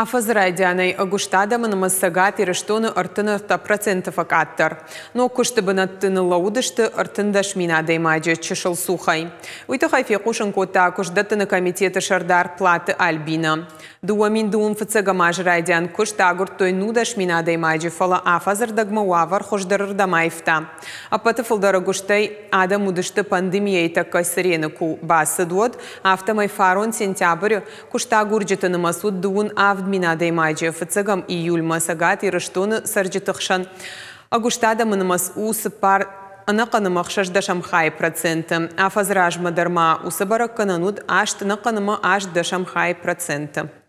Афӕдзы райдианӕй ӕгуыст адӕмы нымӕц Цӕгат Ирыстоны 33% фӕкъаддӕр. Ног куысты бынӕтты ныллӕууыдысты 13 000 адӕймаджы чысыл цухӕй. Уый тыххӕй фехъусын кодта куыстдӕттыны комитеты сӕрдар Платы Альбина. 2021 азы райдиан куыст агуырдтой 19 000 адӕймаджы, фӕлӕ афӕдзы рдӕгмӕ уавӕр хуыздӕрырдӕм аивта. Ӕппӕты фылдӕр ӕгуыстӕй адӕм уыдысты пандемийӕйы тӕккӕ цырены куы бацыд, уӕд. Афтӕмӕй фарон сентябры куыстагурджыты нымӕц уыд 37 000 адӕймаджы. 1 июльмӕ Цӕгат Ирыстоны цӕрджыты хсӕн ӕгуыст адӕмы нымӕц у 4,6%. Афӕдзы размӕ дӕр ма уыцы бӕрӕггӕнӕн уыд 8,8%.